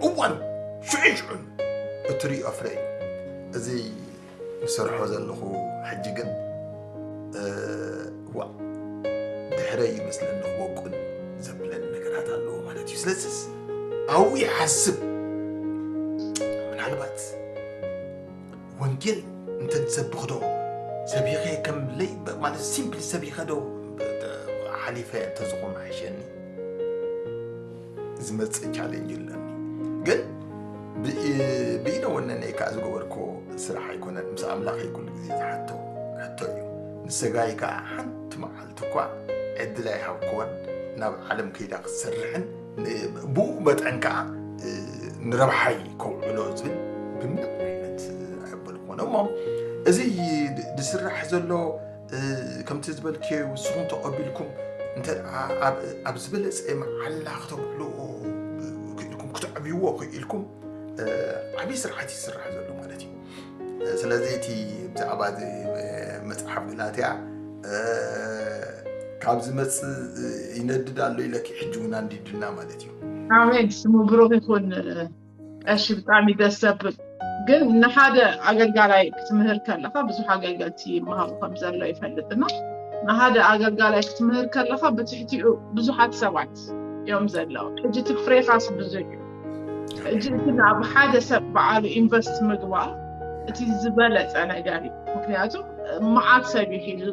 እዋን ሽዑን ሽዑን እትርእዮ ፍረ እዩ። እዚ ዝሰርሖ ዘለኹ ሕጂ ግን ዋ ድሕረይ ይመስለኒ ክወቁን ዘብለኒ ነገራት ኣለዎ ማለት እዩ። ስለዚስ ኣብኡ ይሓስብ ምናልባት ወንጌል እንተንሰብኽ ዶ ሰቢኸ ከም ለይ ማለት ሲምፕሊ ሰቢኸ ዶ ሓሊፈ እንተዝኾን ኣይሸኒ ዝመፅእ ቻሌንጅ ኣለኒ። ግን ብኢነ ወነነይ ከዓ ዝገበርኮ ስራሕ ኣይኮነን። ምስ ኣምላኸይ ኩሉ ግዜ ዝሓቶ ሕቶ እዩ። ንስጋይ ከዓ ሓንቲ መዓልቲ እኳ ዕድል ኣይሃብክዎን ናብ ዓለም ከይዳ ክትሰርሕን ብኡ መጠን ከዓ ንረብሓይ ከውዕሎ ዝብል ብምንም ዓይነት ኣይበልኮነ እሞ እዚ ዝስራሕ ዘሎ ከምቲ ዝበልክዮ ውስኹም ተቐቢልኩም እንተ ኣብ ዝበለፀ መዓላ ክተብዕልዎ ክኢልኩም ክትዕብይዎ ክኢልኩም ዓብዪ ስርዓት ይስራሕ ዘሎ ማለት እዩ። ስለዚ እቲ ብዛዕባ መፅሓፍ ገላትያ ካብ ዝመፅእ ይነድድ ኣሎ ኢለኪ ሕጂ እውን ኣንዲድና ማለት እዩ። ኣሜን። ስሙ ብሩክ ይኹን። ቀሺ ብጣዕሚ ደስ ዘብል ግን ንሓደ ኣገልጋላይ ክትምህር ከለካ ብዙሕ ኣገልገልቲ ይመሃሩ ከም ዘሎ ይፈልጥና ንሓደ ኣገልጋላይ ክትምህር ከለካ ብትሕቲኡ ብዙሓት ሰባት እዮም ዘለዉ። ሕጂ እቲ ፍሬኻስ ብዙሕ እዩ። ሕጂ እቲ ናብ ሓደ ሰብ በዓሉ ኢንቨስት ምግባር እቲ ዝበለፀ ነገር እዩ። ምክንያቱ መዓት ሰብ እዩ ሒዙ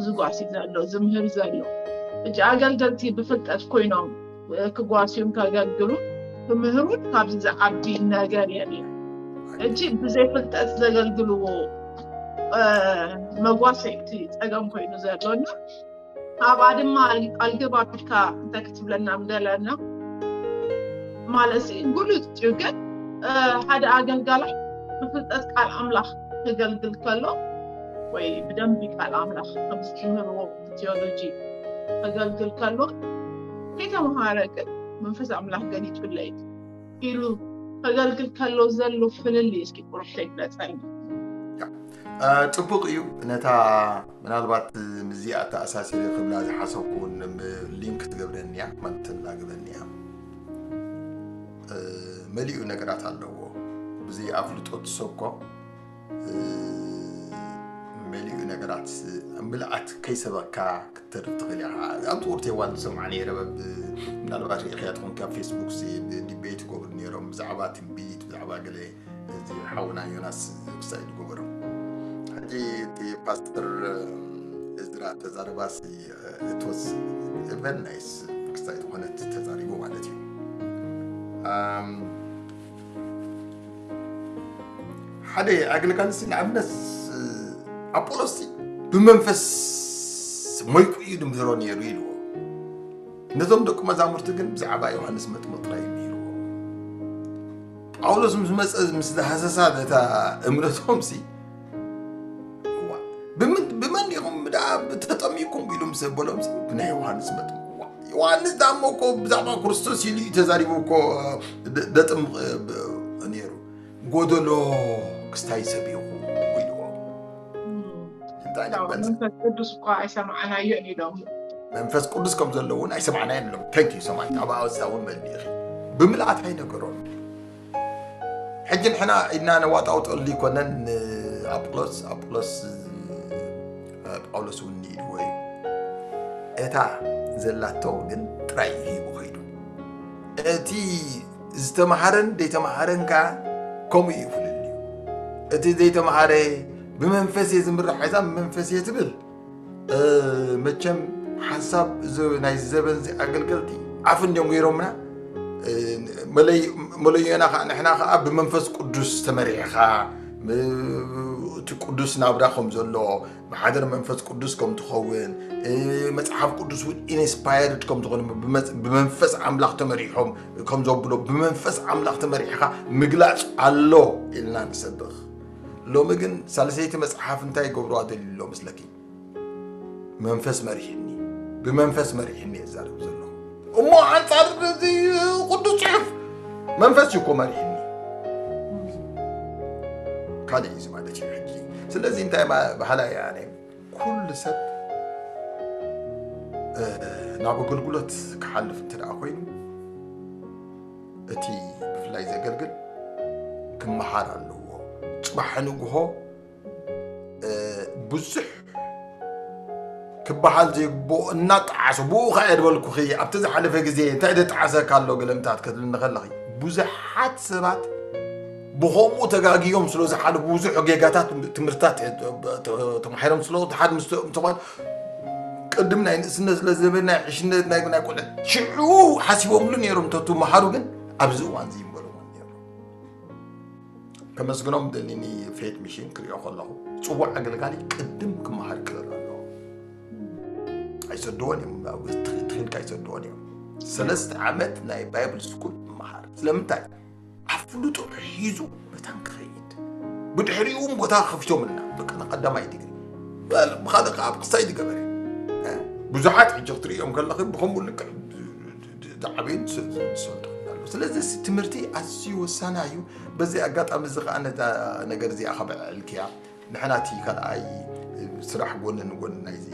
ዝጓሲ ዘሎ ዝምህር ዘሎ እጂ ኣገልገልቲ ብፍልጠት ኮይኖም ክጓስዩን ከገልግሉ ክምህሩን ካብዚ ዝዓቢ ነገር የለን። እጂ ብዘይ ፍልጠት ዘገልግልዎ መጓሰይቲ ፀገም ኮይኑ ዘሎና ኣብኣ ድማ ኣልግብ ኣቢልካ እንታይ ክትብለና ምደለና ማለት ጉሉፅ እዩ። ግን ሓደ ኣገልጋላይ ብፍልጠት ቃል ኣምላኽ ክገልግል ከሎ ወይ ብደንቢ ቃል ኣምላኽ ከምዝትምህርዎ ቴዎሎጂ ከገልግል ከሎ ከይተምሃረ ግን መንፈስ ኣምላኽ ገሊጹለይ ኢሉ ከገልግል ከሎ ዘሎ ፍልልይ እስኪ ቁሩብ ተግለጸልና። ጽቡቕ እዩ። ነታ ምናልባት ምዚኣ ተኣሳሲረ ክብላ ዝሓሰብኩ ሊንክ ትገብረኒ እያ ማለት ትላግበኒ እያ። መሊኡ ነገራት ኣለዎ። ብዘይ ኣፍልጦ ትሰብኮ መሊኡ ነገራት ምልኣት ከይሰበካ ክትተርፍ ትኽእል ኢኻ። ኣብ ጥቁርቲ እዋን ዝሰምዓ ነይረ ምናልባት ሪኢኽያ ትኾንካ ፌስቡክ ዲቤት ይገብሩ ነይሮም ብዛዕባ ትንቢት ብዛዕባ ገለ እዚ ሓውና ዮናስ ክሳይ ዝገበሩ ሕጂ እቲ ፓስተር እዝራ ተዛረባሲ እቶስ ቨን ናይስ ክሳይ ዝኾነት ተዛሪቡ ማለት እዩ። ሓደ ኣገልጋሊ ንኣብነት ኣፖሎስ ብመንፈስ ሞይቁ እዩ ድምህሮ ነይሩ ኢልዎ። ነቶም ደቂ መዛሙርቲ ግን ብዛዕባ ዮሃንስ መጥምቕ ጥራይ እዩ ነይርዎ። ጳውሎስ ምስ መፀ ምስ ዝሃሰሳ ነታ እምነቶም ሲ ብመን ኢኹም ተጠሚኩም ኢሉ ምስ በሎም ብናይ ዮሃንስ መጥምቕ ዮሃንስ ዳሞ እኮ ብዛዕባ ክርስቶስ ኢሉ እዩ ተዛሪቡ እኮ ደጥምቕ ነይሩ። ጎደሎ ክስታይ ሰብ ኢኹ ኢልዎ። መንፈስ ቅዱስ እኳ ኣይሰማዕናዮን ኢሎም መንፈስ ቅዱስ ከም ዘሎ እውን ኣይሰማዕናዮን ኢሎም። ተንክ ዩ ሰማዕት ኣብ ኣወሳ እውን መልእኺ ብምልኣት ኣይነገሮም። ሕጂ ንሕና ኢድና ነዋጣውጠሉ ይኮነን ንኣጵሎስ ኣጵሎስ ጳውሎስ እውን ንኢድዎ እዩ። እታ ዘላቶ ግን ጥራይ እዩ ሂቡ ከይዱ። እቲ ዝተምሃረን ዘይተምሃረን ከኣ ከምኡ እዩ ፍልልዩ። እቲ ዘይተምሃረ ብመንፈስ እየ ዝምራሕ እዛ ብመንፈስ እየ ትብል መቸም ሓንሳብ እዚ ናይ ዘበን እዚ ኣገልገልቲ ኣፍ እንዲዮም ገይሮምና መለዮና ከዓ ንሕና ከዓ ብመንፈስ ቅዱስ ተመሪሕኻ እቲ ቅዱስ ናብራ ከም ዘሎ ብሓደር መንፈስ ቅዱስ ከም ትኸውን መፅሓፍ ቅዱስ እውን ኢንስፓየርድ ከም ዝኾነ ብመንፈስ ኣምላኽ ተመሪሖም ከም ዘብሎ ብመንፈስ ኣምላኽ ተመሪሕኻ ምግላፅ ኣሎ ኢልና ንሰብኽ። ሎሚ ግን ሳልሰይቲ መፅሓፍ እንታይ ይገብርዋ ደልዩ ኣሎ መስለኪ? መንፈስ መሪሕኒ፣ ብመንፈስ መሪሕኒ እዛረብ ዘለኹ እሞ ኣንፃር እዚ ቅዱስ ፅሑፍ መንፈስ እዩ እኮ መሪሕኒ። ካልእ እዩ ማለት እዩ ሕጂ። ስለዚ እንታይ ባህላ እያ ኣነ ኩሉ ሰብ ናብ ኣገልግሎት ክሓልፍ እንተ ደኣ ኮይኑ እቲ ብፍላይ ዘገልግል ክመሃር ኣለዎ። ጽባሕ ንግሆ ብዙሕ ክበሃል ዘይግብኦ እናጠዓሰ፣ ብኡ ኸዓ እየ ዝበልኩኺ፣ ኣብቲ ዝሓለፈ ግዜ እንታይ ደጠዓሰካ ኣሎ ገለምታት ክትብልኒ ከለኺ፣ ብዙሓት ሰባት ብኸምኡ ተጋግዮም ስለ ዝሓለፉ ብዙሕ ጌጋታት ትምህርትታት ተማሂሮም ስለ ሓደ ምስ ተኾን ቅድም ናይ ንእስነት ስለ ዝነበረ ናይ ዕሽነት ናይ ናይ ቆልዕ ሽዑ ሓሲቦምሉ ነይሮም ተቱ መሃሩ ግን ኣብዚ እዋን እዚ ይንበሩ ነይሩ። ከመስግኖም ደሊኒ ፌት ሚሽን ክሪኦ ከለኹ ጽዋዕ ኣገልጋሊ ቅድም ክመሃር ክእል ኣለዎ። ኣይሰድዎን እዮም ትኽኢልካ ኣይሰድዎን እዮም። ሰለስተ ዓመት ናይ ባይብል ስኩል መሃር ስለምንታይ ኣፍልጦ ሒዙ መታን ክኸይድ ብድሕሪኡ እውን ቦታ ከፊቶምልና በቃ ንቀዳማይ ዲግሪ ብካልእ ከዓ ኣብ ክሳይ ዝገበረ ብዙሓት ሕጂ ክትሪኦም ከለኺ ብከምኡ ልክዕ ዝዓበዩን ዝሰልጡ ኣለዉ። ስለዚ ትምህርቲ ኣዝዩ ወሳና እዩ። በዚ ኣጋጣሚ እዚ ከዓ ነዛ ነገር እዚኣ ከበዕልክያ ንሕና እቲ ካልኣይ ስራሕ ጎኒ ንጎኒ ናይዚ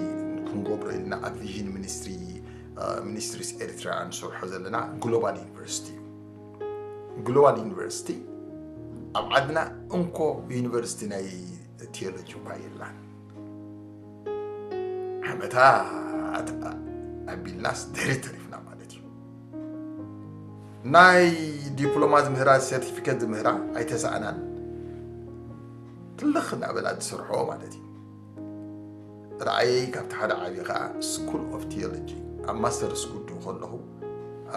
ክንገብሮ ኢልና ኣብ ቪዥን ሚኒስትሪ ሚኒስትሪስ ኤርትራ ንሰርሖ ዘለና ግሎባል ዩኒቨርሲቲ እዩ። ግሎባል ዩኒቨርሲቲ ኣብ ዓድና እንኮ ዩኒቨርሲቲ ናይ ቴዎሎጂ እኳ የላን። ዓመታት ኣቢልናስ ድሕሪት ተሪፍና ማለት እዩ። ናይ ዲፕሎማ ዝምህራ ሰርቲፊኬት ዝምህራ ኣይተሰኣናን። ትልኽ እናበላ ዝሰርሖ ማለት እዩ። ራእየይ ካብቲ ሓደ ዓብዪ ከዓ ስኩል ኦፍ ቴዎሎጂ ኣብ ማስተርስ ጉዱ ከለኹ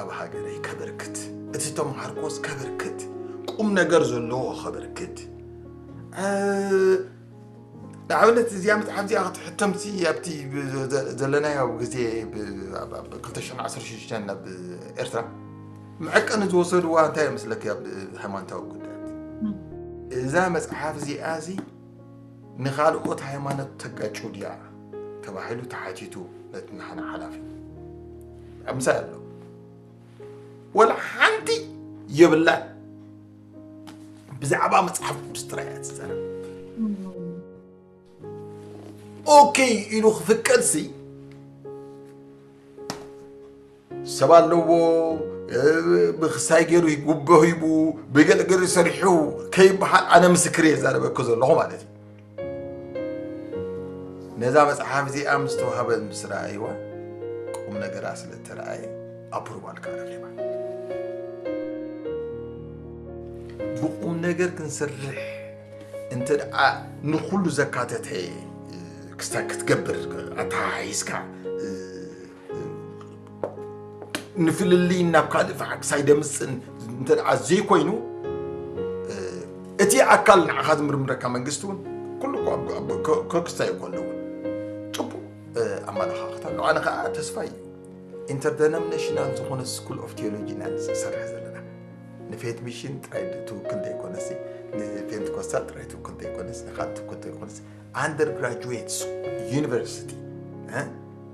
ኣብ ሃገረይ ከበርክት እቲ ተምሃርኮስ ከበርክት ቁም ነገር ዘለዎ ከበርክት ንኣብነት እዚኣ መፅሓፍ እዚኣ ክትሕተምሲ ኣብቲ ዘለናዮ ግዜ ክልተ ሽሕን ዓሰርተ ሽዱሽተን ናብ ኤርትራ መዐቀኒ ዝወሰድዋ እንታይ ይመስለኪ ኣብ ሃይማኖታዊ ጉዳያት እዛ መፅሓፍ እዚኣ እዚ ንኻልኦት ሃይማኖት ተጋጩ ድያ ተባሂሉ ተሓቲቱ ነቲ ንሓና ሓላፊ ምሳይ ኣሎ ወላ ሓንቲ የብላን ብዛዕባ መፅሓፍ ቅዱስ ጥራይ እያ ትዛረብ ኦኬ ኢሉ ክፍቀድሲ ሰብ ኣለዎ ብክሳይ ገይሩ ይጉቦ ሂቡ ብገለገሉ ሰሪሑ ከይበሃል ኣነ ምስክር እየ ዛረበኩ ዘለኹ ማለት እዩ ነዛ መፅሓፍ እዚኣ ምስ ተዋህበ ምስ ረኣይዋ ቁም ነገራ ስለ ተረኣየ ኣፕሩቫል ከረኺባ ብቁም ነገር ክንሰርሕ እንተ ደኣ ንኩሉ ዘካተተ ክስታ ክትገብር ኣተሓሒዝካ ንፍልልይ ናብ ካልእ ፋዕክሳይ ደምፅን እንተ ደኣ ዘይኮይኑ እቲ ኣካል ንዓኻ ዝምርምረካ መንግስቲ እውን ኩሉ ከክስታይ እኮ ኣለዎ ፅቡቅ ኣመላኻኽታ ኣለዎ ኣነ ከዓ ተስፋ እዩ ኢንተርደኖሚኔሽናል ዝኾነ ስኩል ኦፍ ቴዎሎጂ ኢና ንሰርሕ ዘለና ንፌት ሚሽን ጥራይ ትውክል ዘይኮነሲ ንፔንትኮስታል ጥራይ ትውክል ዘይኮነስ ንካል ትውክል ዘይኮነስ ኣንደር ግራጁዌት ዩኒቨርሲቲ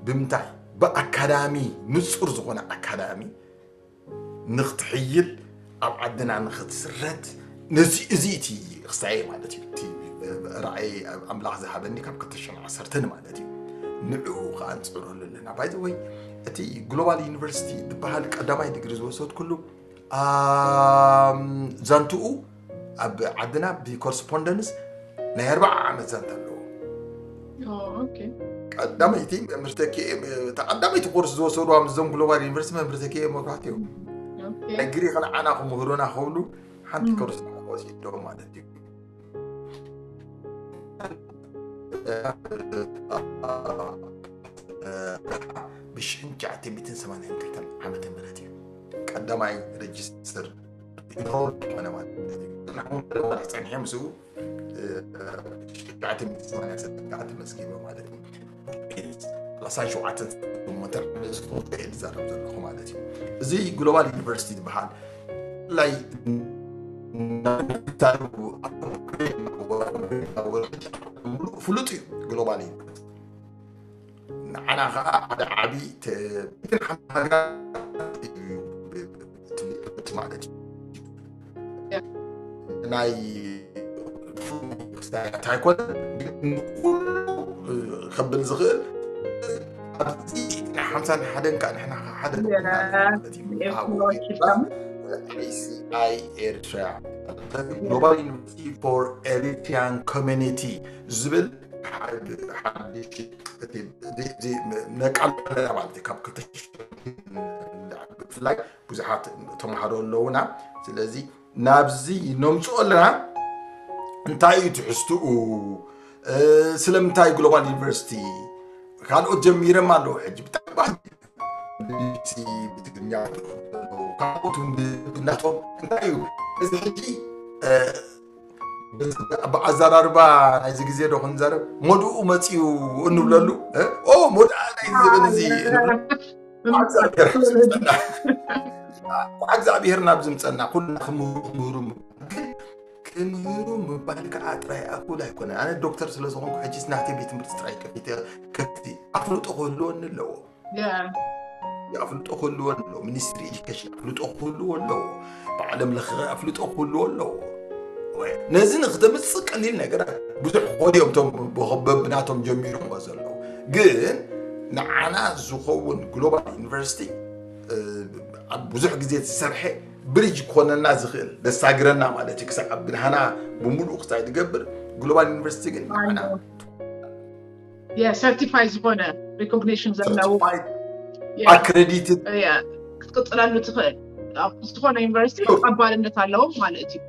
ብምንታይ ብኣካዳሚ ንጹር ዝኾነ ኣካዳሚ ንክትሕይል ኣብ ዓድና ንክትስረት ነዚ እዚ እቲ ክስታይ ማለት እዩ እቲ ራእይ ኣምላኽ ዝሃበኒ ካብ ክልተ ሽሕን ዓሰርተን ማለት እዩ ንዕኡ ከዓ ንፅዕረሉ ኣለና ባይ ወይ እቲ ግሎባል ዩኒቨርሲቲ ዝበሃል ቀዳማይ ዲግሪ ዝወሰድኩሉ ዛንትኡ ኣብ ዓድና ብኮረስፖንደንስ ናይ ኣርባዓ ዓመት ዛንታ ኣለዎ ቀዳመይቲ መምህርተኪ እታ ቀዳመይቲ ኮርስ ዝወሰድዋ ምስዞም ግሎባል ዩኒቨርሲቲ መምህርተኪ መብራህቲ እዮም ናይ ግሪክ ንዓና ክምህሩና ክብሉ ሓንቲ ኮርስ ወሲዶም ማለት እዩ ብሽሕን ትሽዓተ ሚእትን ሰማንያን ክልተን ዓመተ ምህረት እዩ ቀዳማይ ሬጅስተር ኢንሮል ዝኾነ ማለት እዩ ጸኒሐ ምስኡ ትሽዓተ ሚእትን ሰማንያን ሰለስተን ከዓ ተመዝጊበ ማለት እዩ ሰላሳን ሸውዓተን ስፖርት ይዛረብ ዘለኹ ማለት እዩ እዚ ግሎባል ዩኒቨርሲቲ ዝበሃል ላይ ፍሉጥ እዩ ግሎባል ዩኒቨርሲቲ ንዓና ከዓ ሓደ ዓብይ ትምህርትን ሓንቲ ሃገር ማለት እዩ ናይ ክስታያት ኣይኮነ ግን ንኩሉ ከብል ዝኽእል ኣብዚ ናይ ሓምሳን ሓደን ከዓ ንሕና ሓደ ማለት እዩ ናይ ኤርትራ፣ Global University for Eritrean Community ዝብል ሓድሽ ነቃል ኣለና ማለት እዩ። ካብ ክልተ ሽሕን ብፍላይ ብዙሓት ተምሃሮ ኣለውና። ስለዚ ናብዚ ነምፅኦ ኣለና። እንታይ እዩ ትሕዝትኡ? ስለምንታይ ግሎባል ዩኒቨርሲቲ? ካልኦት ጀሚሮም ኣለዉ። ሕጂ ብጣዕሚ ብትግርኛ፣ ካልኦት ናቶም እንታይ እዩ እዚ ሕጂ ብኣዘራርባ ናይዚ ግዜ ዶ ክንዘርብ፣ ሞድኡ መፅዩ እንብለሉ ሞድኣ ናይ ዘበን እዚ እግዚኣብሔር ናብ ዝምፀና ኩልና ክምህሩ ክምህሩ ግን ክምህሩ ምባል ከዓ ጥራይ ኣኩል ኣይኮነ። ኣነ ዶክተር ስለዝኾንኩ ሕጂስ ናተይ ቤት ትምህርቲ ጥራይ ከፊተ ከፍቲ ኣፍልጦ ክህልወኒ ኣለዎ። ኣፍልጦ ክህልዎ ኣለዎ። ሚኒስትሪ ኤዱኬሽን ኣፍልጦ ክህልዎ ኣለዎ። ብዓለም ለኸ ኣፍልጦ ክህልዎ ኣለዎ። ነዚ ንክተምፅእ ቀሊል ነገራት ብዙሕ ክኾኑ እዮም። እቶም በብናቶም ጀሚሮምዎ ዘለዉ ግን ንዓና ዝኸውን ግሎባል ዩኒቨርሲቲ ብዙሕ ግዜ ዝሰርሐ ብሪጅ ክኾነና ዝኽእል ዘሳግረና ማለት እዩ። ክሳብ ብናህና ብምሉእ ክሳይ ዝገብር ግሎባል ዩኒቨርሲቲ ግን ንዓና የሰርቲፋይ ዝኾነ ሪኮግኒሽን ዘለዎ ኣክሬዲትድ ክትቅፅለሉ ትኽእል ዝኾነ ዩኒቨርሲቲ ተቐባልነት ኣለዎም ማለት እዩ።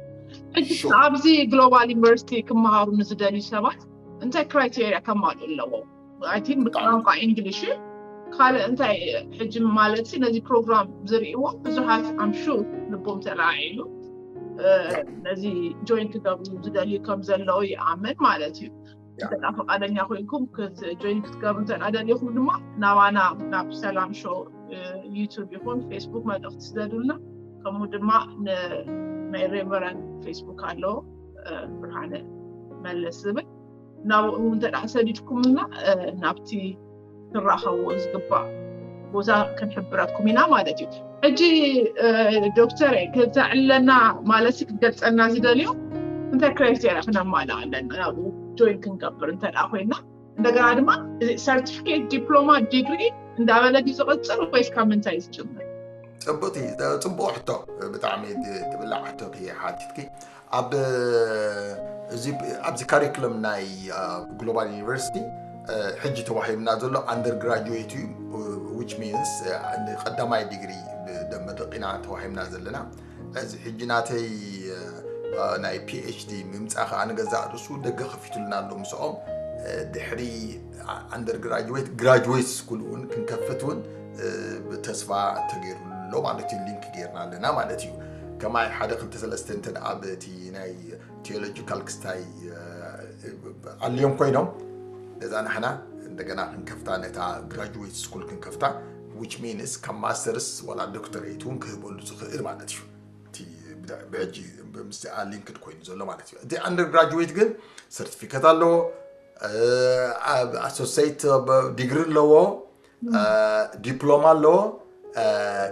ኣብዚ ግሎባል ዩኒቨርሲቲ ክመሃሩ ንዝደልዩ ሰባት እንታይ ክራይቴሪያ ከማልኡ ኣለዎም? ብቋንቋ ኢንግሊሽ ካልእ እንታይ ሕጂ ማለት ነዚ ፕሮግራም ዝርእዎ ብዙሓት ኣምሹ ልቦም ተለዓዒሉ ነዚ ጆይን ክገብሩ ዝደልዩ ከም ዘለዉ ይኣምን ማለት እዩ። እንተ ፍቃደኛ ኮይንኩም ጆይን ክትገብሩ እንተ ደሊኹም ድማ ናባና ናብ ሰላም ሾው ዩቱብ ይኹን ፌስቡክ መልእኽቲ ስደዱልና። ከምኡ ድማ ናይ ሬቨረን ፌስቡክ ኣለዎ ብርሃነ መለስ ዝብል ናብኡ እውን እንተ ሰዲድኩምና ናብቲ ትራኸብዎ ዝግባእ ቦታ ክንሕብረኩም ኢና ማለት እዩ። ሕጂ ዶክተር ክተዕለና ማለት ክትገልፀና ዝደልዮ እንታይ ክራይቴሪያ ክነማልእ ኣለና ናብኡ ጆይን ክንገብር እንተ ኮይና እንደገና ድማ ሰርቲፊኬት ዲፕሎማ ዲግሪ እንዳበለ ድዩ ዝቐፅል ወይስ ካብ ምንታይ ዝጅምር? ፅቡቅ ሕቶ፣ ብጣዕሚ ትብላዕ ሕቶ ሓቲትኪ። ኣብዚ ካሪክለም ናይ ግሎባል ዩኒቨርሲቲ ሕጂ ተዋሂብና ዘሎ ኣንደር ግራጁዌት እዩ። ዊች ሚንስ ንቀዳማይ ዲግሪ ደመረቂና ተዋሂብና ዘለና። እዚ ሕጂ ናተይ ናይ ፒኤችዲ ምምፃእ ከዓ ንገዛእ ርእሱ ደገ ከፊቱልና ኣሎ ምስኦም። ድሕሪ ኣንደር ግራጁዌት ግራጁዌት ስኩል እውን ክንከፍት እውን ተስፋ ተገይሩሎ ማለት እዩ። ሊንክ ገይርና ኣለና ማለት እዩ። ከማይ ሓደ ክልተ ሰለስተ እንተ ኣብ እቲ ናይ ቴዎሎጂካል ክስታይ ኣልዮም ኮይኖም ነዛ ንሕና እንደገና ክንከፍታ ነታ ግራጁዌት ስኩል ክንከፍታ ዊች ሚንስ ካብ ማስተርስ ዋላ ዶክተሬት እውን ክህበሉ ዝኽእል ማለት እዩ። ብሕጂ ምስኣ ሊንክድ ኮይኑ ዘሎ ማለት እዩ። እቲ ኣንደር ግራጁዌት ግን ሰርቲፊኬት ኣለዎ፣ ኣሶሴት ዲግሪ ኣለዎ፣ ዲፕሎማ ኣለዎ፣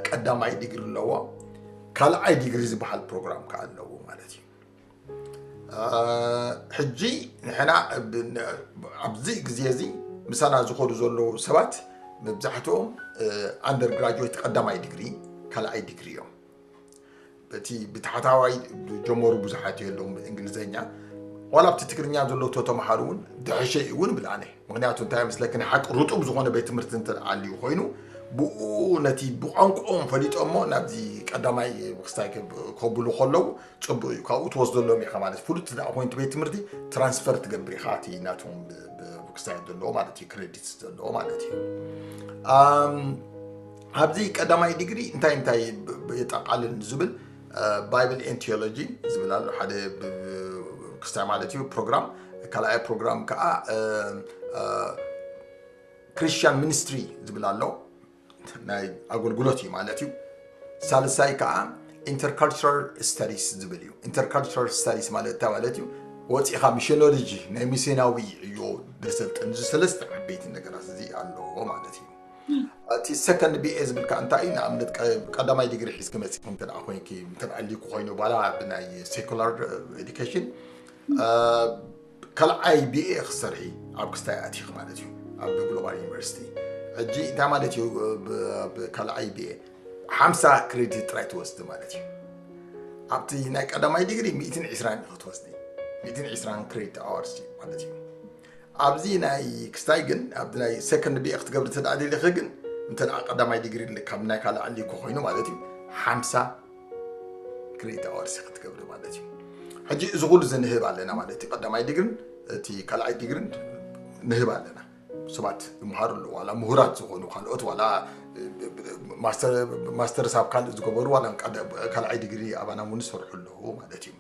ቀዳማይ ዲግሪ ኣለዎ፣ ካልኣይ ዲግሪ ዝበሃል ፕሮግራም ከዓ ኣለዎ ማለት እዩ። ሕጂ ንሕና ኣብዚ ግዜ እዚ ምሳና ዝኸዱ ዘለዉ ሰባት መብዛሕትኦም ኣንደር ግራጁዌት ቀዳማይ ዲግሪ ካልኣይ ዲግሪ እዮም። እቲ ብታሕታዋይ ጀመሩ ብዙሓት የለዎም ብእንግሊዝኛ ዋላ ኣብቲ ትግርኛ ዘለዉ ተተምሃሩ እውን ድሕሸ እውን ብልኣነ ምክንያቱ እንታይ ምስለኪ ሓቂ ርጡብ ዝኾነ ቤት ትምህርቲ እንተ ኣልዩ ኮይኑ ብኡ ነቲ ብቋንቋኦም ፈሊጦሞ ናብዚ ቀዳማይ ክስታይ ከብሉ ከለዉ ፅቡቅ እዩ። ካብኡ ትወስደሎም ኢኻ ማለት ፍሉጥ ዳ ኮይንቱ ቤት ትምህርቲ ትራንስፈር ትገብር ኢኻ እቲ ናቶም ክስታይ ዘለዎ ማለት እዩ ክሬዲት ዘለዎ ማለት እዩ። ኣብዚ ቀዳማይ ዲግሪ እንታይ እንታይ የጠቃልል ዝብል ባይብል ኤን ቴዎሎጂ ዝብል ኣሎ ሓደ ክስታይ ማለት እዩ ፕሮግራም። ካልኣይ ፕሮግራም ከዓ ክርስቲያን ሚኒስትሪ ዝብል ኣሎ ናይ ኣገልግሎት እዩ ማለት እዩ። ሳልሳይ ከዓ ኢንተርካልቸራል ስተዲስ ዝብል እዩ። ኢንተርካልቸራል ስተዲስ ማለት እንታይ ማለት እዩ? ወፂእኻ ሚሽኖሎጂ ናይ ሚስዮናዊ ዕዮ ደሰልጥን እዚ ሰለስተ ዓበይቲ ነገራት እዚ ኣለዎ ማለት እዩ። እቲ ሰከንድ ቢኤ ዝብል ከዓ እንታይ እዩ? ንኣብነት ቀዳማይ ዲግሪ ሒዝኪ መፂእኪ እንተ ኮይንኪ እንተ ኣልይኩ ኮይኑ ባላ ብናይ ሴኩላር ኤዱኬሽን ካልዓይ ቢኤ ክሰርሒ ኣብ ክስታይ ኣቲኽ ማለት እዩ ኣብ ግሎባል ዩኒቨርሲቲ። ሕጂ እንታይ ማለት እዩ? ካልዓይ ቢኤ ሓምሳ ክሬዲት ጥራይ ትወስድ ማለት እዩ። ኣብቲ ናይ ቀዳማይ ዲግሪ ሚእትን ዕስራን ክትወስዲ፣ ሚእትን ዕስራን ክሬዲት ኣወርስ ማለት እዩ። ኣብዚ ናይ ክስታይ ግን፣ ኣብዚ ናይ ሰከንድ ቢኤ ክትገብሪ እንተ ደኣ ደሊኺ ግን፣ እንተ ደኣ ቀዳማይ ዲግሪ ካብ ናይ ካልእ ኣሊኩ ኮይኑ ማለት እዩ፣ ሓምሳ ክሬዲት ኣወርስ ክትገብሪ ማለት እዩ። ሕጂ እዚ ኩሉ እዚ ንህብ ኣለና ማለት እዩ። ቀዳማይ ዲግርን እቲ ካልኣይ ዲግርን ንህብ ኣለና። ሰባት ይምሃሩ ኣለዉ፣ ዋላ ምሁራት ዝኾኑ ካልኦት፣ ዋላ ማስተር፣ ማስተርስ ኣብ ካልእ ዝገበሩ፣ ዋላ ቀደ-፣ ካልኣይ ዲግሪ ኣባና እውን ዝሰርሑ ኣለዉ ማለት እዩ።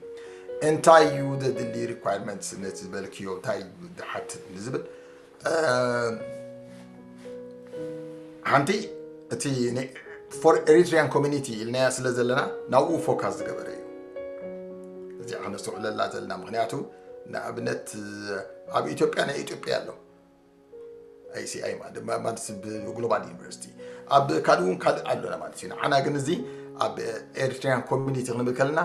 እንታይ እዩ ዘድሊ ሪኳየርመንትስ ነቲ ዝበልክዮ እንታይ ድሓትት ንዝብል፣ እ፣ ሓንቲ እቲ ፎር ኤሪትሪያን ኮሚኒቲ ኢልናያ ስለ ዘለና ናብኡ ፎካስ ዝገበረ እዩ። እዚኣ ከነስተውዕለላ ዘለና፣ ምክንያቱ ንኣብነት ኣብ ኢትዮጵያ ናይ ኢትዮጵያ ኣሎ፣ ኣይሲኣይ ማለት ድማ ማለት ግሎባል ዩኒቨርሲቲ፣ ኣብ ካልእ እውን ካልእ ኣሎና ማለት እዩ። ንዓና ግን እዚ ኣብ ኤሪትሪያን ኮሚኒቲ ክንብል ከለና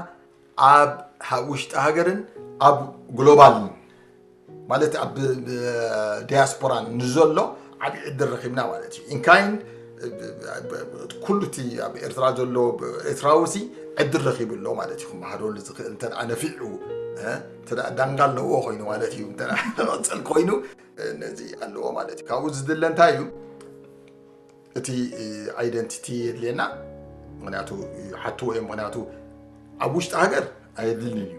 ኣብ ሃ-፣ ውሽጢ ሃገርን ኣብ ግሎባልን ማለት ኣብ ዲያስፖራን ንዘሎ ዓብዪ ዕድል ረኺብና ማለት እዩ። ኢንካይንድ ኩሉ እቲ ኣብ ኤርትራ ዘሎ ኤርትራዊ ሲ ዕድል ረኺቡ ኣሎ ማለት እዩ። ክመሃረሉ ዝኽእል እንተ ደኣ ነፊዑ፣ እ፣ እንተ ደኣ ዳንጋ ኣለዎ ኮይኑ ማለት እዩ። እንተ ደኣ ክቕጽል ኮይኑ፣ እ፣ ነዚ ኣለዎ ማለት እዩ። ካብኡ ዝድለ እንታይ እዩ? እቲ፣ እ፣ ኣይደንቲቲ የድልየና። ምክንያቱ ይሓትዎ እዮም። ምክንያቱ ኣብ ውሽጢ ሃገር ኣየድልንን እዩ።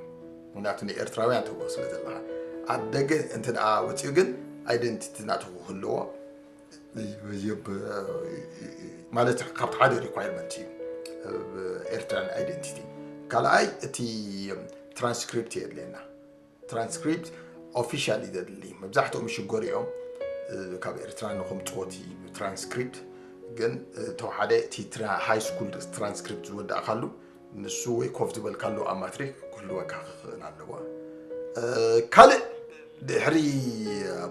ምክንያቱ ንኤርትራውያን ትብሎ ስለ ዘለኻ። ኣብ ደገ እንተ ደኣ ወፂኡ ግን ኣይደንቲቲ ናቱ ክህልዎ ብ-፣ ማለት ካብቲ ሓደ ሪኳየርመንት እዩ፣ ኤርትራን ኣይደንቲቲ። ካልኣይ እቲ ትራንስክሪፕት የድልየና። ትራንስክሪፕት ኦፊሻል እዩ ዘድሊ። መብዛሕትኦም ይሽገሩ እዮም፣ እ፣ ካብ ኤርትራ ንኹም ጾቲ ትራንስክሪፕት። ግን፣ እ፣ ተወሓደ እቲ ትራ-፣ ሃይ ስኩል ትራንስክሪፕት ዝወዳእካሉ ንሱ ወይ ኮፍ ዝበልካሉ ኣብ ማትሪክ ክህልወካ ክኽእል ኣለዎ። እ፣ ካልእ ድሕሪ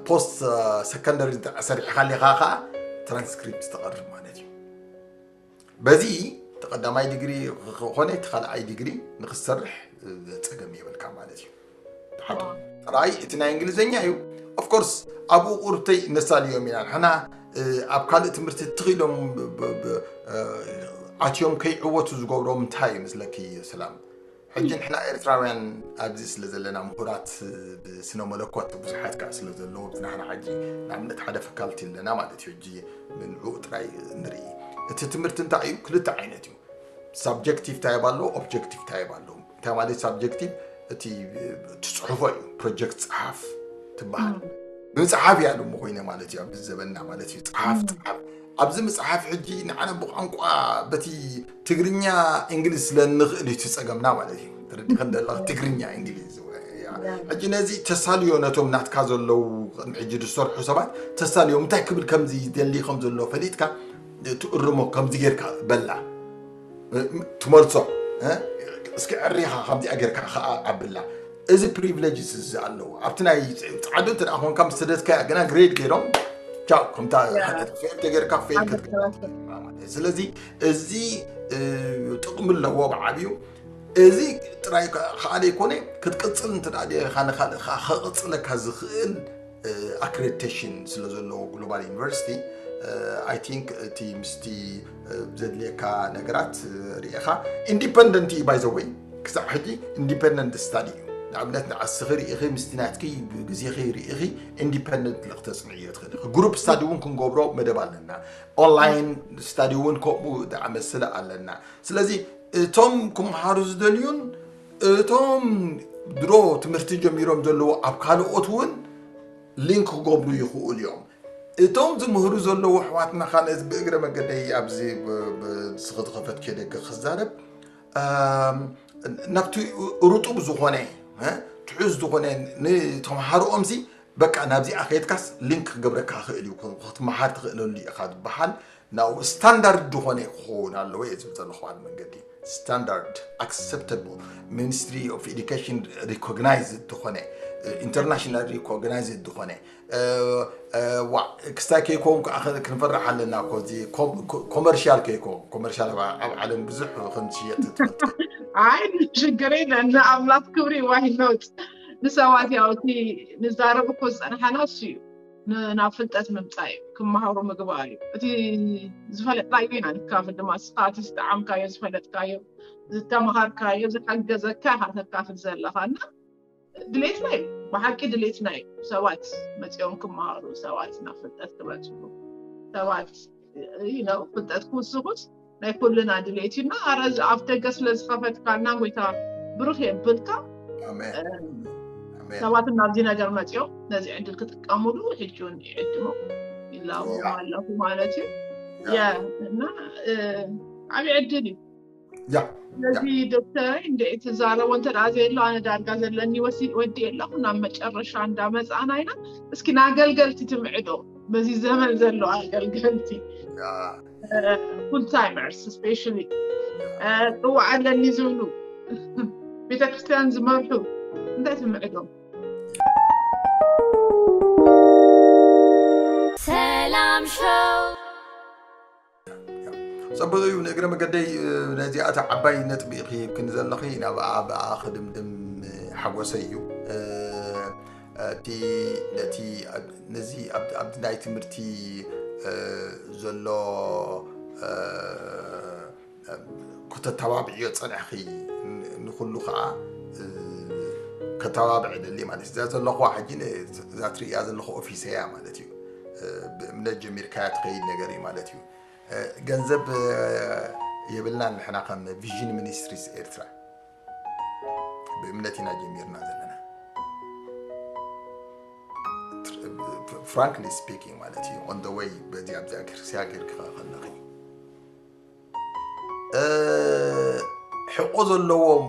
ፖስት ሰከንደሪ እንተ ሰሪሕካ ኣለኻ ኸዓ ትራንስክሪፕት ተቐርብ ማለት እዩ። በዚ እቲ ቀዳማይ ዲግሪ ክኾነ እቲ ካልኣይ ዲግሪ ንክትሰርሕ ጸገም የብልካ ማለት እዩ። ተሓቶ ጥራይ እቲ ናይ እንግሊዝኛ እዩ። ኦፍኮርስ ኣብኡ ቁርብተይ ነሳልዮም ኢና ንሕና፣ እ፣ ኣብ ካልእ ትምህርቲ ትኽኢሎም ብ-፣ ብ-፣ ብ-፣ እ፣ ኣትዮም ከይዕወቱ ዝገብሮም እንታይ እዩ መስለኪ ሰላም? ሕጂ ንሕና ኤርትራውያን ኣብዚ ስለ ዘለና ምሁራት ብስነ መለኮት ብዙሓት ከኣ ስለ ዘለዉ፣ ኣብዚ ንሕና ሕጂ ንኣብነት ሓደ ፈካልቲ ኣለና ማለት እዩ። ሕጂ ንዕኡ ጥራይ ንርኢ። እቲ ትምህርቲ እንታይ እዩ? ክልተ ዓይነት እዩ። ሳብጀክቲቭ ታይፕ ኣሎ፣ ኦብጀክቲቭ ታይፕ ኣሎ። እንታይ ማለት ሳብጀክቲቭ? እቲ ትጽሕፎ እዩ፣ ፕሮጀክት ጸሓፍ ትበሃል። እም። ብምጽሓፍ እያ ሎሚ ኮይነ ማለት እዩ፣ ኣብዚ ዘበንና ማለት እዩ። ጸሓፍ፣ እም። ጸሓፍ። ኣብዚ ምጽሓፍ ሕጂ ንዓና ብቋንቋ በቲ ትግርኛ፣ እንግሊዝ ስለ እንኽእል እዩ እቲ ጸገምና ማለት እዩ። ተረዲኸ እንደለኻ ትግርኛ፣ እንግሊዝ። ያ። ያ። ሕጂ ነዚ ተሳልዮ ነቶም ናትካ ዘለዉ ቅድሚ ሕጂ ዝሰርሑ ሰባት ተሳልዮም እንታይ ክብል ከም ዝደሊ ከም ዘሎ ፈሊጥካ ትእርሞ ከምዚ ጌርካ በላ። ትመልሶ፣ እ? እስኪ ዕሪኻ ከምዚኣ ጌርካ ከኣ ኣብላ። እዚ ፕሪቪሌጅስ እዚ ኣለዎ። ኣብቲ ናይ ጻዕዱ እንተ ደኣ ኮንካ ምስ ሰደድካያ ግና ግሬድ ገይሮም ቻው፣ ከምታ ያ። ሓደ ፌል ተጌርካ ፌል ሓደ ክትገብር ሰባት ትኽእል ኢኻ ማለት እዩ። ስለዚ እዚ፣ እ፣ ጥቕሚ ኣለዎ ብዓብዩ። እዚ ጥራይ ከ-፣ ከኣ ዘይኮነ ክትቅጽል እንተ ደኣ ደሊኻ ንኻልእ ከኣ ከቕጽለካ ዝኽእል፣ እ፣ ኣክሬዲቴሽን ስለ ዘለዎ ግሎባል ዩኒቨርሲቲ፣ እ፣ ኣይ ቲንክ እቲ ምስቲ፣ እ፣ ዘድልየካ ነገራት፣ እ፣ ርኢኻ ኢንዲፐንደንት እዩ ባይ ዘ ወይ ክሳብ ሕጂ ኢንዲፐንደንት ስታዲ እዩ። ንኣብነት ንዓስኺ ርኢኺ ምስቲ ናትኪ ግዜኺ ርኢኺ ኢንዲፐንደንት ክትተጽንዕዮ ትኽእል ኢኺ። ግሩፕ ስታዲ እውን ክንገብሮ መደብ ኣለና። ኦንላይን ስታዲ እውን ከምኡ ዝኣመሰለ ኣለና። ስለዚ እቶም ክመሃሩ ዝደልዩን እቶም ድሮ ትምህርቲ ጀሚሮም ዘለዉ ኣብ ካልኦት እውን ሊንክ ክገብሩ ይኽእሉ እዮም። እቶም ዝምህሩ ዘለዉ ኣሕዋትና ካልእ ብእግረ መገደይ ኣብዚ ብ-፣ ብ-፣ ንስኺ ዝኸፈትክዮ ደገ ክዛረብ፣ ኣም፣ ናብቲ ርጡብ ዝኾነ፣ እ፣ ትሑዝ ዝኾነ ንተምሃሮኦምሲ በቃ ናብዚኣ ከይድካስ ሊንክ ክገብረካ ክኽእል እዩ፣ ክትመሃር ትኽእለሉ ኢኻ ዝበሃል ናብኡ ስታንዳርድ ዝኾነ ክኸውን ኣለዎ እየ ዝብል ዘለኹ። ኣብ መንገዲ ስታንዳርድ ኣክሰፕተብል ሚኒስትሪ ኦፍ ኤዱኬሽን ሪኮግናይዝድ ዝኾነ፣ ኢንተርናሽናል ሪኮግናይዝድ ዝኾነ፣ እ፣ እ፣ ዋ፣ ክስታይ ከይከውን ከዓ ኸ-፣ ክንፈርሕ ኣለና እኮ። እዚ ኮም-፣ ኮ-፣ ኮመርሻል ከይከውን፣ ኮመርሻል ኣብ፣ ኣብ ዓለም ብዙሕ ከም ዝሽየጥ ትፈልጥ። ኣይ፣ ሽግር የለን። ንኣምላኽ ክብሪ፣ ዋይ ኖት። ንሰባት ያው እቲ ንዛረብ እኮ ዝጸንሓና እሱ እዩ። ናብ ፍልጠት ምምፃእ እዩ፣ ክመሃሩ ምግባር እዩ። እቲ ዝፈለጥናዮ ኢና ንካፍል ድማ፣ ንስኻ እቲ ዝጠዓምካዮ፣ ዝፈለጥካዮ፣ ዝተምሃርካዮ፣ ዝሓገዘካ ኢኻ ተካፍል ዘለኻ። እና ድሌትና እዩ፣ ብሓቂ ድሌትና እዩ ሰባት መፂኦም ክመሃሩ፣ ሰባት ናብ ፍልጠት ክበፅሑ፣ ሰባት ፍልጠት ክውስኹስ ናይ ኩልና ድሌት እዩ። እና ኣረ ኣብ ደገ ስለ ዝኸፈትካልና ጎይታ ብሩኽ የብልካ። ኣሜን። ኣሜን። ሰባት ናብዚ ነገር መፂኦም ነዚ ዕድል ክጥቀሙሉ ሕጂ እውን ይዕድሞም ይላቦም ኣለኹ ማለት እዩ። ያ እና ዓብዪ ዕድል እዩ። ያ ስለዚ ዶክተር እንደ ትዛረቦ እንተ ደኣ ዘየሎ ኣነ ዳርጋ ዘለኒ ወዲ ኣለኹ። ናብ መጨረሻ እንዳመፃና ኢና። እስኪ ንኣገልገልቲ ትምዕዶ፣ በዚ ዘመን ዘሎ ኣገልገልቲ full timers especially ፅዋዕ ኣለኒ ዝብሉ ቤተክርስትያን ዝመርሑ እንታይ ትምዕዶም? ሰላም ሾው ጸበሉ እዩ። ንእግረ መገደይ ነዚኣታ ዓባይ ነጥቢ ኢኺ ክንዘለኺ ናብኣ ብኣ ክድምድም ሓጎሰይ እዩ። እቲ ነቲ ነዚ ኣብ ናይ ትምህርቲ ዘሎ ከተተባብዕዮ ጸንሕኺ ንኩሉ ከዓ ከተባብዕ ደሊ ማለት እዛ ዘለኹዋ ሕጂ እዛ ትርእያ ዘለኹ ኦፊሰያ ማለት እዩ። ብእምነት ጀሚርካያ ትኸይድ ነገር እዩ ማለት እዩ። ገንዘብ የብልናን ንሕና ከም ቪዥን ሚኒስትሪስ ኤርትራ ብእምነት ኢና ጀሚርና ዘለና። Frankly speaking ማለት እዩ on the way በዚ ኣብዚኣ ክርስያ ጌርካ ከለኺ ሕቆ ዘለዎም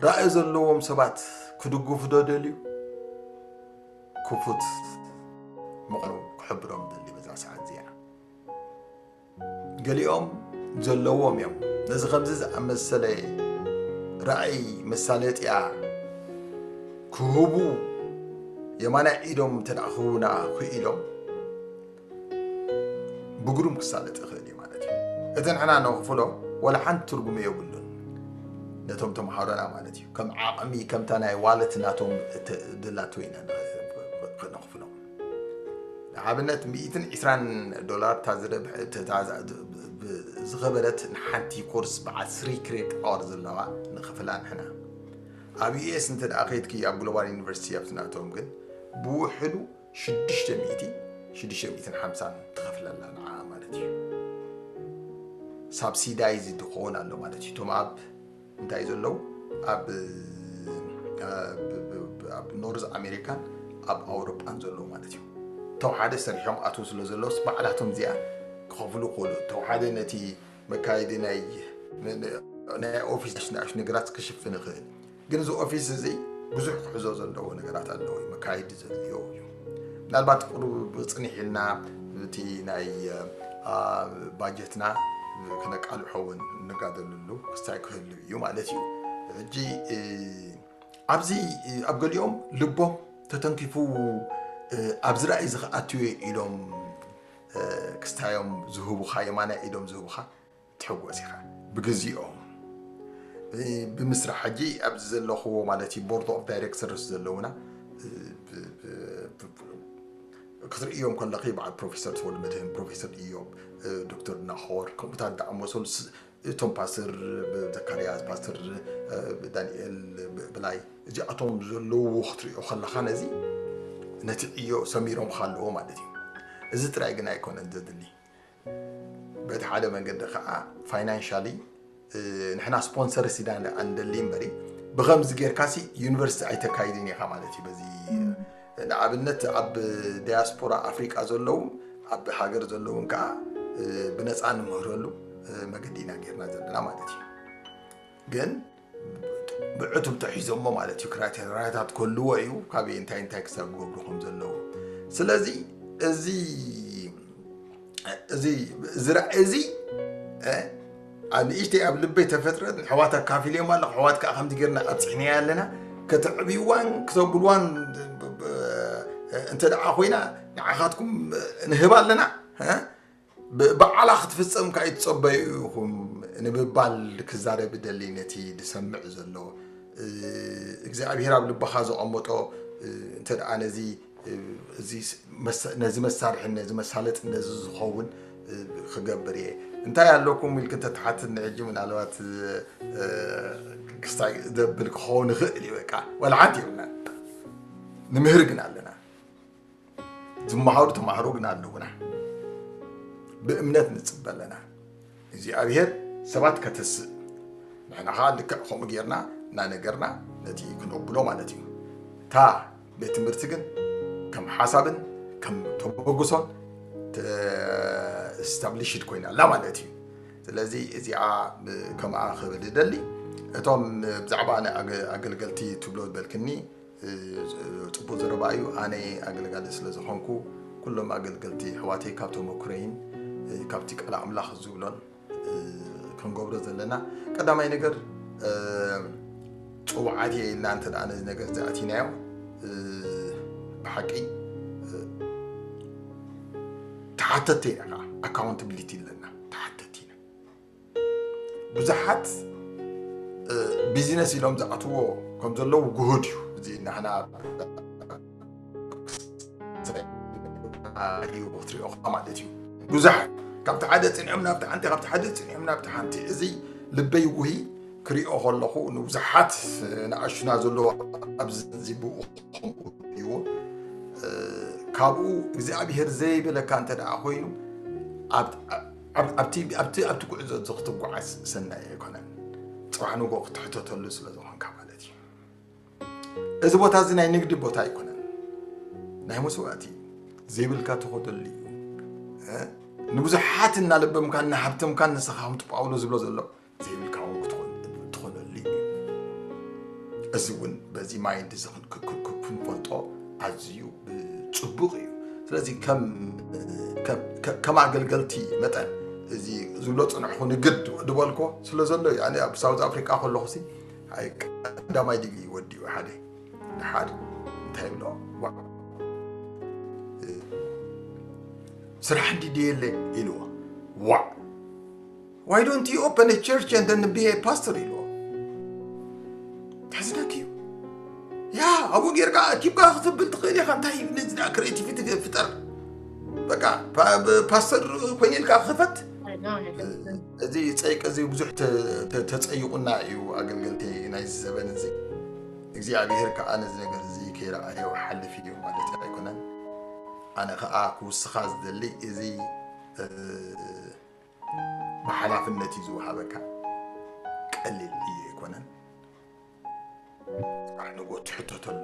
ራእይ ዘለዎም ሰባት ክድግፉ ዶ ደልዩ ክፉት ምዃኑ ክሕብሮም ደሊ በዛ ሰዓት እዚኣ። ገሊኦም ዘለዎም እዮም ነዚ ከምዚ ዝኣመሰለ ራእይ መሳለጥያ ክህቡ የማናይ ኢዶም እንተ ክህቡና ክኢሎም ብግሩም ክሳለጥ ይኽእል እዩ ማለት እዩ። እቲ ንሕና ነኽፍሎ ወላ ሓንቲ ትርጉም የብሉን ነቶም ተምሃሮና ማለት እዩ። ከም ዓቕሚ ከምታ ናይ ዋለት ናቶም ድላቶ ኢና ነኽፍሎም። ንኣብነት ሚእትን ዕስራን ዶላር እታ ዝረብሕ ዝኸበረት ንሓንቲ ኮርስ በዓል ስሪ ክሬዲት ኣወር ዘለዋ ንኽፍላ ንሕና ኣብ ዩኤስ እንተ ደኣ ከይድኪ ኣብ ግሎባል ዩኒቨርሲቲ ኣብቲ ናቶም ግን ብውሕዱ ሽዱሽተ ሚእቲ ሽዱሽተ ሚእትን ሓምሳን ትኸፍለላ ንዓ ማለት እዩ። ሳብሲዳይዝ ክኸውን ኣሎ ማለት እዩ። እቶም ኣብ እንታይ ዘለዉ ኣብ ኣብ ኖርዝ ኣሜሪካን ኣብ ኣውሮጳን ዘለዉ ማለት እዩ። ተው ሓደ ሰሪሖም ኣትው ስለ ዘለውስ ባዕላቶም እዚኣ ክኸፍሉ ክኽእሉ ተው ሓደ ነቲ መካየዲ ናይ ናይ ኦፊስ ናሽ ነገራት ክሽፍን ይኽእል። ግን እዚ ኦፊስ እዚ ብዙሕ ክሕዞ ዘለዎ ነገራት ኣለዎ እዩ መካየዲ ዘድልዮ እዩ። ምናልባት ቁሩብ ፅኒሕ ኢልና እቲ ናይ ባጀትና ክነቃልሖ እውን እንጋደልሉ ክስታይ ክህሉ እዩ ማለት እዩ። ሕጂ ኣብዚ ኣብ ገሊኦም ልቦም ተተንኪፉ ኣብዚ ራእይ እዚ ክኣትዩ ኢሎም ክስታዮም ዝህቡኻ የማናይ ኢዶም ዝህቡኻ ትሕጎስ ኢኻ ብግዚኦም ብምስራሕ ሕጂ ኣብዚ ዘለኽዎ ማለት እዩ ቦርድ ኦፍ ዳይሬክተርስ ዘለውና ክትርእዮም ከለኺ በዓል ፕሮፌሰር ተወልደ መድህን ፕሮፌሰር ኢዮብ ዶክተር ናሆር ከምኡታት ዝኣመሰሉ እቶም ፓስተር ዘካርያስ ፓስተር ዳንኤል ብላይ እዚኣቶም ዘለዉ ክትሪኦ ከለኻ ነዚ ነቲ ዕዮ ሰሚሮም ኣለዎ ማለት እዩ። እዚ ጥራይ ግን ኣይኮነን ዘድሊ በቲ ሓደ መንገዲ ከዓ ፋይናንሻሊ ንሕና ስፖንሰር ሲዳ እንደሊ እምበሪ ብከምዚ ጌርካሲ ዩኒቨርሲቲ ኣይተካይድን ኢኻ ማለት እዩ። በዚ ንኣብነት ኣብ ዲያስፖራ ኣፍሪቃ ዘለዉ ኣብ ሃገር ዘለውን ከዓ ብነፃ ንምህረሉ መገዲ ኢና ጌርና ዘለና ማለት እዩ። ግን ብዕቱብ ተሒዞሞ ማለት እዩ። ክራይቴሪያታት ክህልዎ እዩ ካበይ እንታይ እንታይ ክሳብ ክገብሩ ከም ዘለዎ። ስለዚ እዚ እዚ እዚ ራእይ እዚ ኣብ ንእሽተይ ኣብ ልበይ ተፈጥረት ንሕዋት ኣካፊልዮም ኣለኹ። ሕዋት ከዓ ከምዚ ጌርና ኣብፅሕናያ ኣለና። ከተዕብይዋን ክተብልዋን እንተ ደኣ ኮይና ንዓኻትኩም ንህብ ኣለና። ባዕላ ክትፍፀም ካይትፀበዩ ኢኹም ንምባል ክዛረብ ደሊ ነቲ ዝሰምዕ ዘሎ እግዚኣብሔር ኣብ ልብኻ ዘቐመጦ እንተ ደኣ ነዚ እዚ ነዚ መሳርሒ ነዚ መሳለጥ ነዚ ዝኸውን ክገብር እየ። እንታይ ኣለኩም ኢልክ እንተትሓትኒ ሕጂ ምናልባት ክስታይ ዘብል ክኸውን ይኽእል እዩ። በቃ ዋላ ሓንቲ የብልና። ንምህር ግን ኣለና። ዝመሃሩ ተማሃሮ ግን ኣለውና። ብእምነት ንጽበ ኣለና። እግዚኣብሔር ሰባት ከተስእ ንሕና ከዓ ልክዕ ከምኡ ጌርና እናነገርና ነቲ ክነብሎ ማለት እዩ። እታ ቤት ትምህርቲ ግን ከም ሓሳብን ከም ተበግሶን ስታብሊሽድ ኮይና ኣላ ማለት እዩ። ስለዚ እዚኣ ከምኣ ክብል ደሊ እቶም ብዛዕባ ኣገልገልቲ ትብሎ ዝበልክኒ ጽቡቅ ዘረባ እዩ። ኣነ ኣገልጋሊ ስለ ዝኾንኩ ኩሎም ኣገልገልቲ ኣሕዋተይ ካብ ተመክሮይን ካብቲ ቃል ኣምላኽ ዝብሎን ክንገብሮ ዘለና ቀዳማይ ነገር ጽውዓት እየ ኢልና እንተ ደኣ ነዚ ነገር እዚ ኣቲናዮ ብሓቂ ተሓተቲ ኢና። ኣካውንታብሊቲ ኣለና፣ ተሓተቲ ኢና። ብዙሓት ቢዝነስ ኢሎም ዝኣትዎ ከም ዘለዉ ግሁድ እዩ። እዚ ንሕና እዩ ክትሪኦ ማለት እዩ። ብዙሓት ካብቲ ሓደ ፅንዕም ናብቲ ሓንቲ ካብቲ ሓደ ፅንዕም ናብቲ ሓንቲ እዚ ልበይ ውሂ ክሪኦ ከለኹ ንብዙሓት ንኣሹና ዘለዎ ኣብዚ ብኡ እዩ። ካብኡ እግዚኣብሔር ዘይበለካ እንተ ደኣ ኮይኑ ኣብቲ ጉዕዞ እዚ ክትጓዓዝ ሰናይ ኣይኮነን። ፅባሕ ንጎ ክትሕተተሉ ስለ ዝኾንካ ማለት እዩ። እዚ ቦታ እዚ ናይ ንግዲ ቦታ ኣይኮነን። ናይ መስዋእቲ ዘይብልካ ትኸደሉ እዩ። ንብዙሓት እናለበምካን እናሃብተምካን ንስኻ ከምቲ ጳውሎስ ዝብሎ ዘሎ ዘይብልካ እውን ክትኾነሉ እዩ። እዚ እውን በዚ ማይንድ እዚ ክንፈልጦ ኣዝዩ ፅቡቕ እዩ። ስለዚ ከም ኣገልገልቲ መጠን እዚ ዝብሎ ፅንሕኹ ንግድ ድበልኮ ስለ ዘሎ እዩ። ኣነ ኣብ ሳውዝ ኣፍሪካ ከለኹ ቀዳማይ ዲግሪ ወዲኡ ሓደ ሓደ እንታይ ይብሎ ስራሕ እንዲ ድየለ ኢልዎ ዋዕ Why don't you open a church and then be a pastor? ኢልዎ ተሕዝነኪ እዩ። ያ ኣብኡ ጌርካ ኣኪብካ ክትብል ትኽእል ኢኻ። እንታይ ነዚ ክሬቲቪቲ ፍጠር። በቃ ፓስተር ኮይነ ኢልካ ክፈት። እዚ ፀይቂ እዚ ብዙሕ ተፀይቁና እዩ ኣገልገልቲ ናይዚ ዘበን እዚ። እግዚኣብሔር ከዓ ነዚ ነገር እዚ ከይረኣዮ ሓልፍ እዩ ማለት ኣይኮነን። ኣነ ከዓ ክውስኻ ዝደሊ እዚ ብሓላፍነት እዩ ዝወሃበካ። ቀሊል ዕዮ ኣይኮነን። ንጎ ትሕተተሉ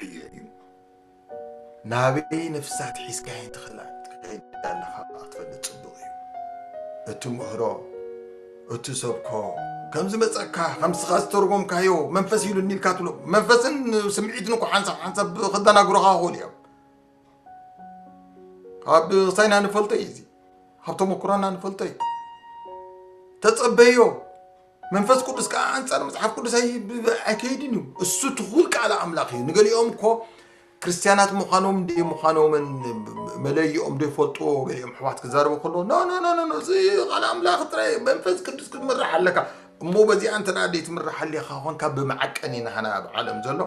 ዕዮ እዩ። ናበይ ነፍሳት ሒዝካየን ትኸዳ ኣለኻ ክትፈልጥ ፅቡቕ እዩ። እቲ ምህሮ እቲ ሰብኮ ከም ዝመፀካ ከም ስኻ ዝተርጎምካዮ መንፈስ ኢሉ እኒልካ ትብሎ መንፈስን ስምዒትን እኮ ሓንሳብ ሓንሳብ ክደናግሮኻ ክኽእሉ እዮም። ካብ ሳይና ንፈልጦ እዩ እዚ ካብ ተመክሮና ንፈልጦ እዩ። ተጸበዮ መንፈስ ቅዱስ ከዓ ኣንጻር መጽሓፍ ቅዱስ ኣይከይድን እዩ። እሱ ትኹል ቃል ኣምላኽ እዩ። ንገሊኦም እኮ ክርስትያናት ምዃኖም እንደ ምዃኖምን መለይኦም ዶ ይፈልጥዎ። ገሊኦም ኣሕዋት ክዛረቡ ከሎ ኖ ኖ ኖ ኖ እዚ ቃል ኣምላኽ ጥራይ መንፈስ ቅዱስ ክትምራሕ ኣለካ። እሞ በዚኣ እንተ ደኣ ዘይትምራሕ ሃሊኻ ኾንካ ብመዐቀኒ ናህና ኣብ ዓለም ዘሎ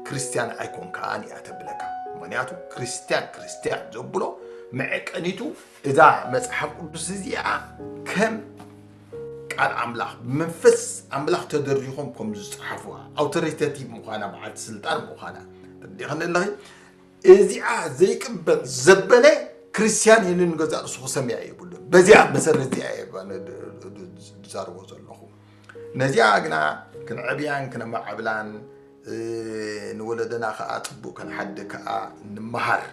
ክርስትያን ኣይኮንካን እያ ተብለካ። ምኽንያቱ ክርስትያን ክርስትያን ዘብሎ መዐቀኒቱ እዛ መጽሓፍ ቅዱስ እዚኣ ከም ቃል ኣምላኽ ብመንፈስ ኣምላኽ ተደሪኾም ከም ዝጸሓፉዋ ኣውቶሪቴቲቭ ምዃና በዓልቲ ስልጣን ምዃና ተረዲእኽኒ ኣለኺ። እዚኣ ዘይቅበል ዘበለ ክርስትያን ኢሉ ንገዛእ ርእሱ ክሰምያ የብሉን። በዚኣ መሰረት እዚኣ እየ ዝዛረቦ ዘለኹ። ነዚኣ ግና ክንዕብያን ክነማዕብላን ንወለደና ከዓ ፅቡቅ ክንሓድግ ከዓ ንምሃር።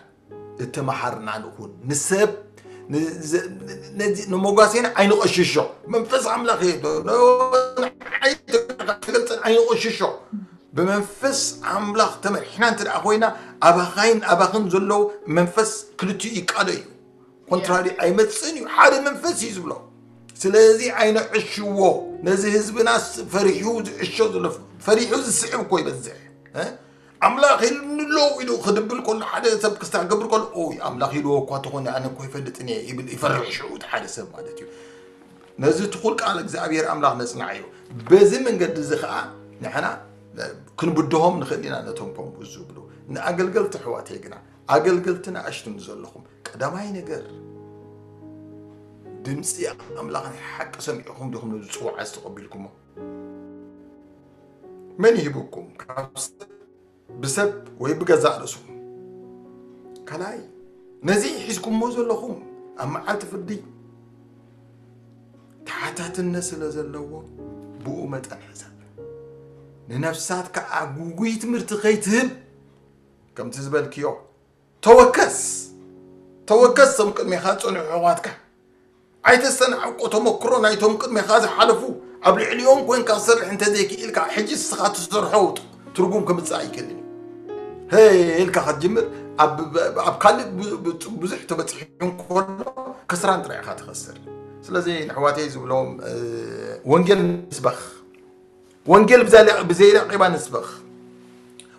እተመሃርና ንኹን ንሰብ ንመጓሴና ኣይንቐሽሾ። መንፈስ ኣምላኽ እየ ትገልፀን ኣይንቐሽሾ። ብመንፈስ ኣምላኽ ተመሪሕና እንተ ደኣ ኮይና ኣባኻይን ኣባኽን ዘሎ መንፈስ ክልቲኡ ይቃዶ እዩ። ኮንትራሪ ኣይመፅእን እዩ። ሓደ መንፈስ እዩ ዝብሎ። ስለዚ ኣይንዕሽዎ። ነዚ ህዝብና ፈሪሑ ዝዕሾ ዘሎ ፈሪሑ ዝስዕብ እኮ ይበዝሕ። ኣምላኽ ኢልንሎ ኢሉ ክድብል ከሎ ሓደ ሰብ ክስታ ክገብር ከሎ ኦይ ኣምላኽ ኢልዎ እኳ ተኾነ ኣነ እኮ ይፈልጥን እየ ይብል ይፈርሕ ሽዑ እቲ ሓደ ሰብ ማለት እዩ። ነዚ ትኹል ቃል እግዚኣብሔር ኣምላኽ ነጽንዓዮ። በዚ መንገዲ እዚ ኸዓ ንሕና ክንብድሆም ንኽእል ኢና ነቶም ከምኡ ዝብሉ ንኣገልገልቲ ኣሕዋተይ ግና ኣገልገልትን ኣሽቱን ዘለኹም፣ ቀዳማይ ነገር ድምፂ ኣምላኽ ናይ ሓቂ ሰሚዕኹም ዲኹም ነዚ ፅዋዕ ዝተቐቢልኩሞ? መን ይህብኩም? ካብ ሰብ፣ ብሰብ ወይ ብገዛእ ርእስኹም? ካልኣይ፣ ነዚ ሒዝኩሞ ዘለኹም ኣብ መዓልቲ ፍርዲ ተሓታትነት ስለ ዘለዎ፣ ብኡ መጠን ሕሰብ። ንነፍሳት ከዓ ጉጉይ ትምህርቲ ከይትህብ፣ ከምቲ ዝበልክዮ፣ ተወከስ። ተወከስ፣ ቶም ቅድሜኻ ዝጸንሑ ኣሕዋትካ። ኣይተስተናዕቆ። ተመክሮ ናይቶም ቅድሜኻ ዝሓለፉ፣ ኣብ ልዕሊኦም ኮንካ ክሰርሕ እንተዘይክኢልካ፣ ሕጂ ንስኻ ትሰርሖ ትርጉም ከምጽእ ኣይክእልን እዩ። ሄ ኢልካ ክትጅምር፣ ኣብ፣ ኣብ ካልእ ብ-፣ ብ-፣ ብዙሕ ተበጺሑ እንከሎ፣ ከስራን ጥራይ ኢኻ ትኸስር። ስለዚ ንኣሕዋተይ ዝብሎም፣ እ፣ ወንጌል ንስበኽ። ወንጌል ብዘይ-፣ ብዘይ ላቄባ ንስበኽ።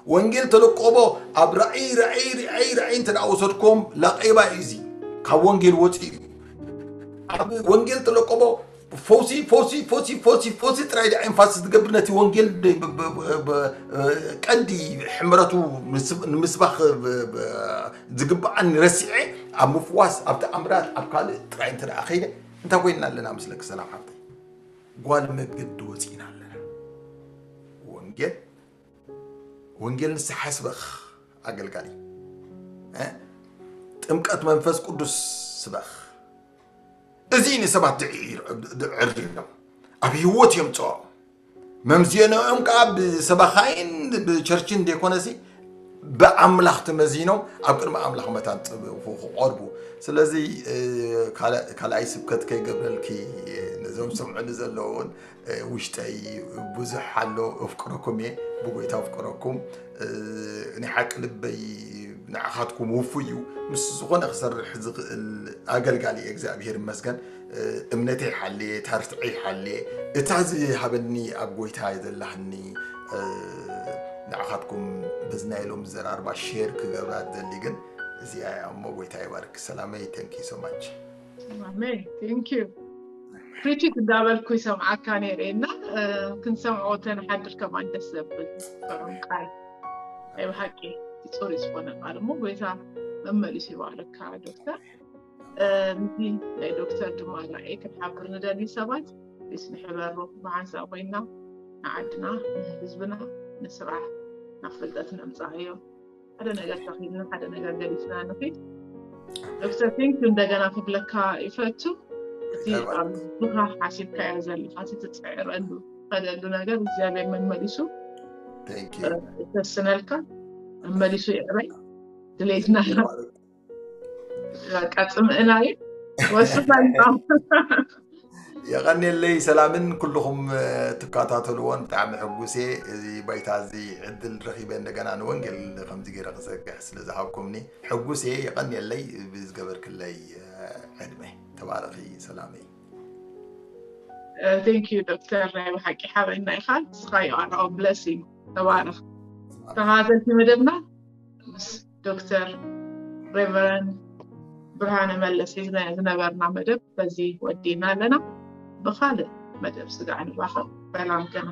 ወንጌል ተለቆቦ ኣብ ራእይ፣ ራእይ፣ ራእይ፣ ራእይ እንተ ደኣ ወሰድኩም፣ ላቄባ እዩ እዚ። ካብ ወንጌል ወፂኡ እዩ። ኣብ ወንጌል ተለቆቦ ፈውሲ፣ ፈውሲ፣ ፈውሲ፣ ፈውሲ፣ ፈውሲ ጥራይ ደኣ ኤንፋሲስ ዝገብር፣ ነቲ ወንጌል ብ-፣ ብ-፣ ብ-፣ ብ-፣ ቀንዲ ሕምረቱ ምስ-፣ ንምስባኽ ብ-፣ ብ-፣ ዝግብኣኒ ረሲዐ፣ ኣብ ምፍዋስ፣ ኣብ ተኣምራት፣ ኣብ ካልእ ጥራይ እንተ ደኣ ከይደ፣ እንታይ ኮይንና ኣለና መስለኪ ሰላም ሓፍተይ? ጓል መገዲ ወፂእና ኣለና። ወንጌል፣ ወንጌል ንስሓ ስበኽ ኣገልጋሊ። እ? ጥምቀት መንፈስ ቅዱስ ስበኽ። እዚ ንሰባት ድዕሪሎም ኣብ ህይወት የምፅኦም። መምዝኖኦም ከዓ ብሰባኻይን ብቸርችን ዘይኮነሲ ብኣምላኽ ተመዚኖም ኣብ ቅድሚ ኣምላኽ መታን ክቐርቡ። ስለዚ፣ እ፣ ካልኣይ፣ ካልኣይ ስብከት ከይገብረልኪ፣ ነዞም ዝሰምዑኒ ዘለዉ እውን፣ እ፣ ውሽጠይ ብዙሕ ኣሎ። እፍቅረኩም እየ፣ ብጎይታ እፍቅረኩም። እ፣ ናይ ሓቂ ልበይ ንዓኻትኩም ውፉይ እዩ። ምስ ዝኾነ ክሰርሕ ዝኽእል ኣገልጋሊ እየ፣ እግዚኣብሔር ይመስገን። እ፣ እምነተይ ሓልየ፣ ታርትዐይ ሓልየ፣ እታ ዝሃበኒ ኣብ ጎይታ ዘላህኒ፣ እ፣ ንዓኻትኩም በዚ ናይ ሎም ዘራርባ ሼር ክገብራ ዝደሊ ግን እዚኣ እያ እሞ፣ ጎይታ ይባርክ። ሰላመይ፣ thank you so much። ኣሜን። Thank you። ፕሪቺት እንዳበልኩ ይሰምዓካ ነይረ እና፣ እ፣ ክንሰምዖ ተንሓድር ከማን ደስ ዘብል ጥዑም ቃል። ናይ ብሓቂ እቲ ጽሩይ ዝኾነ ቃል እሞ ጎይታ መመሊሱ ይባርካ ዶክተር። እ፣ ምስዚ ናይ ዶክተር ድማ ራእይ ክንሓብር ንደሊ ሰባት ፕሊስ ንሕበሮ፣ ብሓንሳእ ኮይና ንዓድና፣ ንህዝብና፣ ንስራሕ፣ ናብ ፍልጠት ነምጻኣዮ። ሓደ ነገር ተኺልና፣ ሓደ ነገር ገሊፍና ንኺድ። ዶክተር፣ ቴንክ ዩ እንደገና ክብለካ ይፈቱ። እቲ ኣብ ልብኻ ሓሲብካዮ ዘለኻ፣ እቲ ትጽዕረሉ፣ ትኸደሉ ነገር እግዚኣብሔር መመሊሱ፣ ቴንክ ዩ። እ፣ ይፈስነልካ፣ መመሊሱ ይዕበይ። ድሌትና በቃ ጽምእና እዩ። ወስና። የቐንየለይ ሰላምን ኩልኹም፣ እ፣ ትከታተልዎን ብጣዕሚ ሕጉስ እየ። እዚ ባይታ እዚ ዕድል ረኺበ እንደገና ንወንጌል ከምዚ ገይረ ክዘርግሕ ስለ ዝሃብኩምኒ ሕጉስ እየ። የቐንየለይ ብዝገበርክለይ፣ እ፣ ዕድመ። ተባረኺ ሰላመይ። እ፣ ቴንክ ዩ ዶክተር፣ ናይ ብሓቂ ሓበና ኢኻ። ንስኻ you are our blessing። ተባረኽ። ተኸታተልቲ መደብና ምስ ዶክተር ሬቨረንድ ብርሃነ መለስ ሒዝና ዝነበርና መደብ በዚ ወዲና ኣለና። ብኻልእ መደብ ስጋዕ ንራኸብ። ሰላም ከና።